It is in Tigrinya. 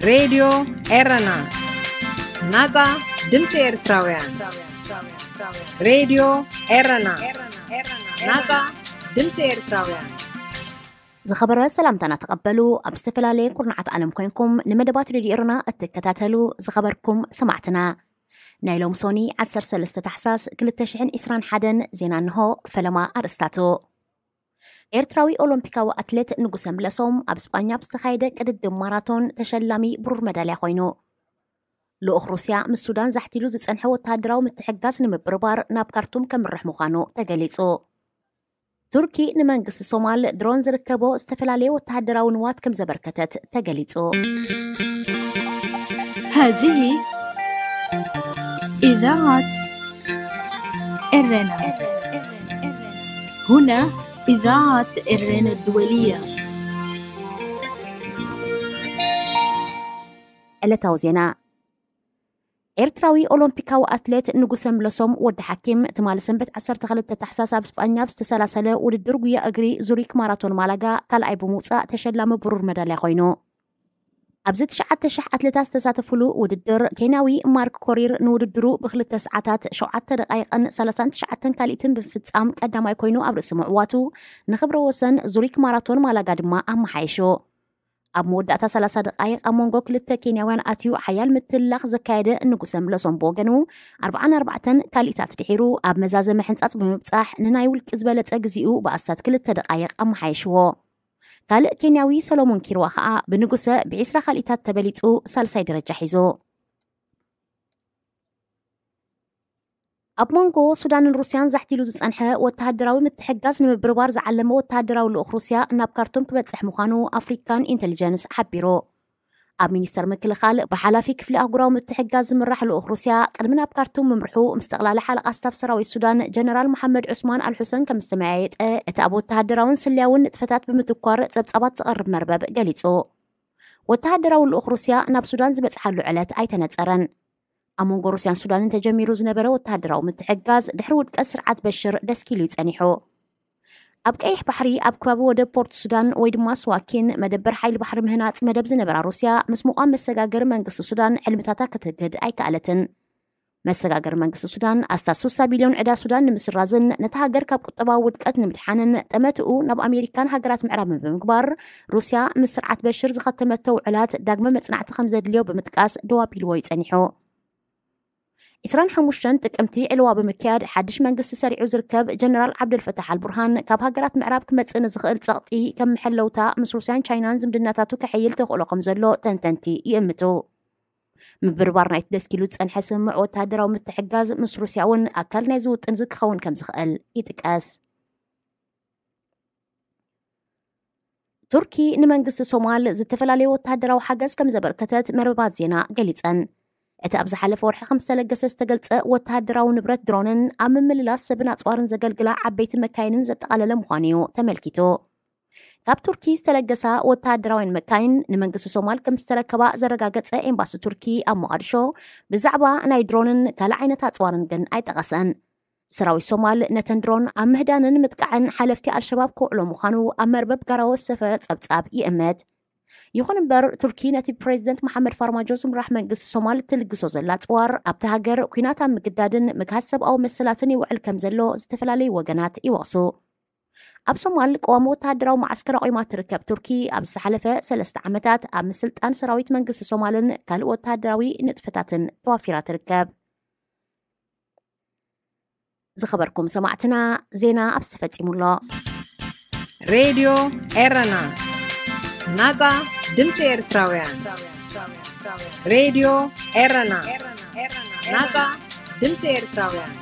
ሬድዮ ኤረና፣ ናጻ ድምጺ ኤርትራውያን። ሬድዮ ኤረና፣ ናጻ ድምጺ ኤርትራውያን። ዝኸበረ ሰላምታና ተቐበሉ። ኣብ ዝተፈላለየ ኩርናዓት ዓለም ኮይንኩም ንመደባት ሬድዮ ኤረና እትከታተሉ ዝኸበርኩም ሰማዕትና፣ ናይ ሎም ሶኒ ዓሰርተ ሰለስተ ታሕሳስ ክልተ ሽሕን ዕስራን ሓደን ዜና እንሆ። ፈለማ ኣርእስታቱ። ኤርትራዊ ኦሎምፒካዊ ኣትሌት ንጉሰ ምለሶም ኣብ ስጳኛ ኣብ ዝተኻየደ ቅድድም ማራቶን ተሸላሚ ብሩር መዳልያ ኮይኑ። ልኡኽ ሩስያ ምስ ሱዳን ዛሕቲሉ ዝጸንሐ ወተሃደራዊ ምትሕግጋዝ ንምብርባር ናብ ካርቱም ከምርሕ ምዃኑ ተገሊጹ። ቱርኪ ንመንግስቲ ሶማል ድሮን ዝርከቦ ዝተፈላለየ ወተሃደራዊ ንዋት ከም ዘበርከተት ተገሊጹ። هذه إذاعة إرنا. هنا إذاعة إرنا الدولية. ዕለታዊ ዜና። ኤርትራዊ ኦሎምፒካዊ ኣትሌት ንጉሰ ምለሶም ወዲ ሓኪም ትማሊ ሰንበት ዓሰርተ ክልተ ታሕሳስ ኣብ ስጳኛ ኣብ ዝተሰላሰለ ውድድር ጉያ እግሪ ዙሪክ ማራቶን ማላጋ ካልኣይ ብምውፃእ ተሸላሚ ብሩር መዳልያ ኮይኑ። ኣብዚ ትሽዓተ ሽሕ ኣትሌታት ዝተሳተፉሉ ውድድር ኬንያዊ ማርክ ኮሪር ንውድድሩ ብክልተ ሰዓታት ሸውዓተ ደቃይቅን ሰላሳን ትሽዓተን ካልኢትን ብምፍጻም ቀዳማይ ኮይኑ ኣብ ርእሲ ምዕዋቱ፣ ንክብረ ወሰን ዙሪክ ማራቶን ማላጋ ድማ ኣመሓይሹ። ኣብ መወዳእታ ሰላሳ ደቃይቅ ኣብ መንጎ ክልተ ኬንያውያን ኣትዩ ሓያል ምትላኽ ዘካየደ ንጉሰ ምለሶም ብወገኑ ኣርብዓን ኣርባዕተን ካልኢታት ድሒሩ ኣብ መዛዘመ ሕንጻጽ ብምብጻሕ ንናይ ውልቂ ዝበለጸ ግዜኡ ብኣስታት ክልተ ደቃይቅ ኣመሓይሽዎ። ካልእ ኬንያዊ ሰሎሞን ኪርዋ ከኣ ብንጉሰ ብዒስራ ካልኢታት ተበሊጹ ሳልሳይ ደረጃ ሒዙ። ኣብ መንጎ ሱዳንን ሩስያን ዛሕቲሉ ዝጸንሐ ወተሃደራዊ ምትሕግጋዝ ንምብርባር ዝዓለመ ወተሃደራዊ ልኡኽ ሩስያ ናብ ካርቱም ክበጽሕ ምዃኑ ኣፍሪካን ኢንተሊጀንስ ሓቢሩ። ኣብ ሚኒስተር ምክልኻል ብሓላፊ ክፍሊ ኣህጉራዊ ምትሕግጋዝ ዝምራሕ ልኡኽ ሩስያ ቅድሚ ናብ ካርቱም ምምርሑ ምስ ጠቕላሊ ሓለቓ ስታፍ ሰራዊት ሱዳን ጀነራል መሓመድ ዑስማን ኣልሑሰን ከም ዝተመያየጠ እቲ ኣብ ወተሃደራውን ስለያውን ንጥፈታት ብምትኳር ጸብጻባት ዝቐርብ መርበብ ገሊጹ። ወተሃደራዊ ልኡኽ ሩስያ ናብ ሱዳን ዝበጽሓሉ ዕለት ኣይተነጸረን። ኣብ መንጎ ሩስያን ሱዳንን ተጀሚሩ ዝነበረ ወተሃደራዊ ምትሕግጋዝ ድሕሪ ውድቀት ስርዓት በሽር ደስኪሉ እዩ ጸኒሑ። ኣብ ቀይሕ ባሕሪ ኣብ ከባቢ ወደብ ፖርት ሱዳን ወይ ድማ ስዋኪን መደበር ሓይሊ ባሕሪ ምህናጽ መደብ ዝነበራ ሩስያ ምስ ምቋም መሰጋገሪ መንግስቲ ሱዳን ሕልምታታ ክትህግድ ኣይከኣለትን። መሰጋገሪ መንግስቲ ሱዳን ኣስታት ሱሳ ቢልዮን ዕዳ ሱዳን ንምስራዝን ነታ ሃገር ካብ ቁጠባዊ ውድቀት ንምድሓንን ጠመትኡ ናብ ኣሜሪካን ሃገራት ምዕራብን ብምግባር ሩስያ ምስ ስርዓት በሽር ዝኸተመቶ ውዕላት ዳግመ መጽናዕቲ ከም ዘድልዮ ብምጥቃስ ደው ኣቢልዎ እዩ ጸኒሑ። ዕስራን ሓሙሽተን ጥቅምቲ ዕልዋ ብምክያድ ሓድሽ መንግስቲ ሰሪዑ ዝርከብ ጀነራል ዓብደልፈታሕ ኣልቡርሃን ካብ ሃገራት ምዕራብ ክመጽእ ንዝኽእል ጸቕጢ ከም መሐለውታ ምስ ሩስያን ቻይናን ዝምድናታቱ ከሐይል ተኽእሎ ከም ዘሎ ተንተንቲ ይእምቱ። ምብርባር ናይቲ ደስኪሉ ዝጸንሐ ስምምዕ ወተሃደራዊ ምትሕጋዝ ምስ ሩስያ እውን ኣካል ናይዚ ውጥን እዚ ክኸውን ከም ዝኽእል ይጥቀስ። ቱርኪ ንመንግስቲ ሶማል ዝተፈላለዩ ወተሃደራዊ ሓገዝ ከም ዘበርከተት መርበባት ዜና ገሊጸን። እቲ ኣብ ዝሓለፈ ወርሒ ከም ዝተለገሰ ዝተገልጸ ወተሃደራዊ ንብረት ድሮንን ኣብ ምምልላስ ሰብን ኣጽዋርን ዘገልግላ ዓበይቲ መካይንን ዘጠቓለለ ምዃኑ እዩ ተመልኪቱ። ካብ ቱርኪ ዝተለገሳ ወተሃደራውያን መካይን ንመንግስቲ ሶማል ከም ዝተረከባ ዘረጋገጸ ኤምባሲ ቱርኪ ኣብ ሞቓዲሾ ብዛዕባ ናይ ድሮንን ካልእ ዓይነት ኣጽዋርን ግን ኣይጠቐሰን። ሰራዊት ሶማል ነተን ድሮን ኣብ ምህዳንን ምጥቃዕን ሓለፍቲ ኣልሸባብ ክውዕሎ ምዃኑ ኣብ መርበብ ጋራወ ዝሰፈረ ጸብጻብ ይእምት። ይኹን እምበር ቱርኪ ነቲ ብፕሬዚደንት መሓመድ ፋርማጆ ዝምራሕ መንግስቲ ሶማል እትልግሶ ዘላ ኣጽዋር ኣብቲ ሃገር ኲናት ኣብ ምግዳድን ምግሃስ ሰብኣዊ መሰላትን ይውዕል ከም ዘሎ ዝተፈላለዩ ወገናት ይወቕሱ። ኣብ ሶማል ቀዋሚ ወተሃደራዊ መዓስከር ኣቑማ ትርከብ ቱርኪ ኣብ ዝሓለፈ ሰለስተ ዓመታት ኣብ ምስልጣን ሰራዊት መንግስቲ ሶማልን ካልእ ወተሃደራዊ ንጥፈታትን ተዋፊራ ትርከብ። ዝኸበርኩም ሰማዕትና ዜና ኣብዚ ተፈጺሙ ኣሎ። ሬድዮ ኤረና፣ ናጻ ድምጺ ኤርትራውያን። ሬድዮ ኤረና፣ ናጻ ድምጺ ኤርትራውያን።